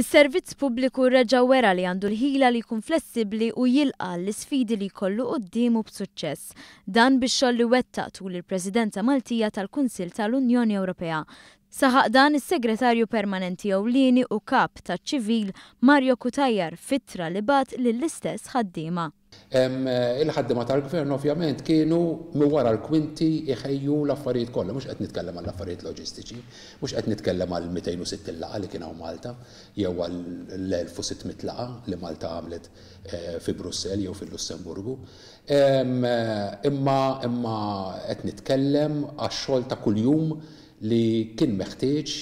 Is-Servizz Pubbliku reġa' wera li għandu l-ħila li jkun flessibbli u jilqa' għall-isfidi li jkollu quddiemu b'suċċess. Dan bix-xogħol li wettaq tul il-Presidenza Maltija tal-Kunsill ta' l-Unjoni Ewropea. Saħaq dan is-Segretarju Permanenti Ewlieni u Kap taċ-Ċivil Mario Cutajar f'ittra li bagħat lill-istess ħaddiema. Il-ħaddiema tal-Gvern ovvjament kienu minn wara l-kwinti jħejju l-affarijiet kollha, mhux qed nitkellem għall-affarijiet loġistiċi, mhux qed nitkellem għall-260 laqgħa li kien hawn Malta jew għall-1600 laqgħa li Malta għamlet fi Brussell jew fil-Lussemburgu. Imma imma qed nitkellem għax-xogħol ta' kuljum li kien meħtieġ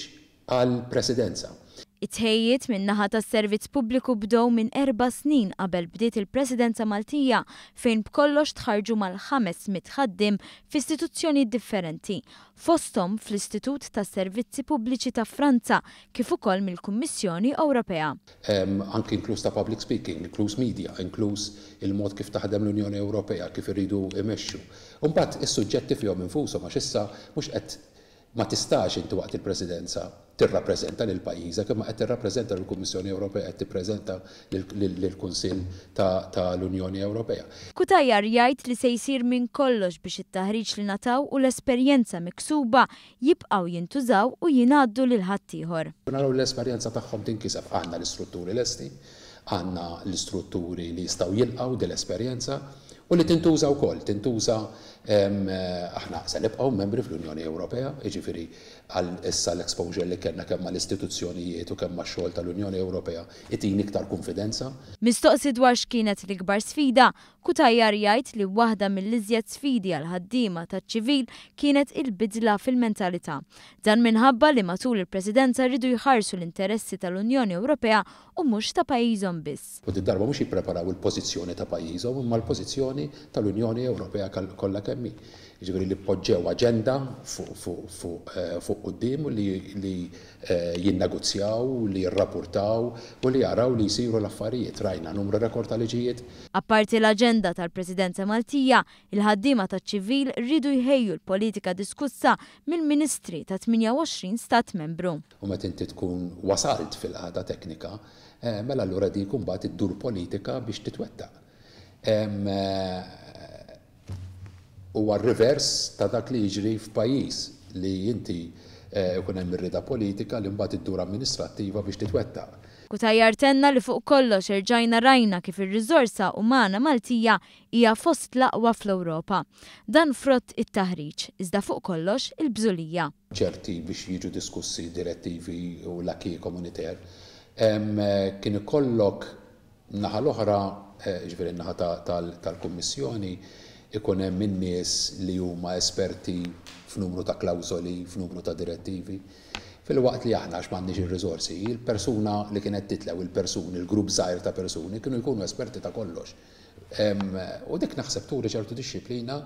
għall-Presidenza. It-tħejjijiet min-naħa tas-Servizz Pubbliku bdew minn erba' snin qabel bdiet il-Presidenza Maltija fejn b'kollox tħarrġu mal-500 ħaddiem f'istituzzjonijiet differenti, fosthom fl-Istitut tas-Servizzi Pubbliċi ta' Franza kif ukoll mill-Kummissjoni Ewropea. Anki inkluż ta' public speaking, inkluż media, inkluż il-mod kif taħdem l-Unjoni Ewropea, kif iridu jmexxu. U mbagħad is-suġġetti fihom infushom għax issa mhux qed Ma tistax inti waqt il-Presidenza tirrappreżenta lil pajjiżek imma qed tirrappreżenta lill-Kummissjoni Ewropea, qed tippreżenta lill-Kunsill ta' l-Unjoni Ewropea. Cutajar jgħid li se jsir minn kollox biex it-taħriġ li ngħataw u l-esperjenza miksuba jibqgħu jintużaw u jingħaddu lil ħaddieħor. Naraw li l-esperjenza tagħhom tinkiseb. Għandna l-istrutturi lesti, għandna l-istrutturi li jistgħu jilqgħu din l-esperjenza u li tintuża wkoll, tintuża Aħna se nibqgħu membri fl-Unjoni Ewropea, jiġifieri għal issa l-exposure li kellna kemm mal-istituzzjonijiet u kemm max-xogħol tal-Unjoni Ewropea itini iktar kunfidenza. Mistoqsi dwar x'kienet l-ikbar sfida, Cutajar jgħid li waħda mill-iżjed sfidi għall-ħaddiema taċ-ċivil kienet il-bidla fil-mentalità. Dan minħabba li matul il-Presidenza riedu jħarsu l-interessi tal-Unjoni Ewropea u mhux ta' pajjiżhom biss. U did-darba mhux jippreparaw il-pożizzjoni ta' pajjiżhom imma l-pożizzjoni tal-Unjoni Ewropea kollha kemm hi. Jiġifieri li poġġew aġenda fuq quddiem u li jinnegozjaw, li jirrapurtaw u li jaraw li jsiru l-affarijiet. Rajna numru rekord ta' liġijiet. Apparti l-aġenda tal-Presidenza Maltija, il-ħaddiema taċ-ċivil riedu jħejju l-politika diskussa mill-Ministri ta' 28 Stat Membru. U meta inti tkun wasalt fil-qagħda teknika, mela allura dik imbagħad iddur politika biex titwettaq. Huwa r-rivers ta' dak li jiġri f'pajjiż li inti jkun hemm ir-rieda politika li mbagħad iddur amministrattiva biex titwettaq. Cutajar tenna li fuq kollox erġajna rajna kif ir-riżorsa umana Maltija hija fost l-aqwa fl-Ewropa. Dan frott it-taħriġ, iżda fuq kollox il-bżulija. Ċerti biex jiġu diskussi direttivi u l-acquis communautaire, kien ikollok naħa l-oħra, jiġifieri n-naħa tal-Kummissjoni, ikun hemm in-nies li huma esperti f'numru ta' klawżoli, f'numru ta' direttivi. Filwaqt li aħna, għax m'għandniex ir-riżorsi, il-persuna li kienet titla' jew il-persuni, il-grupp żgħir ta' persuni kienu jkunu esperti ta' kollox. U dik naħseb turi ċertu dixxiplina.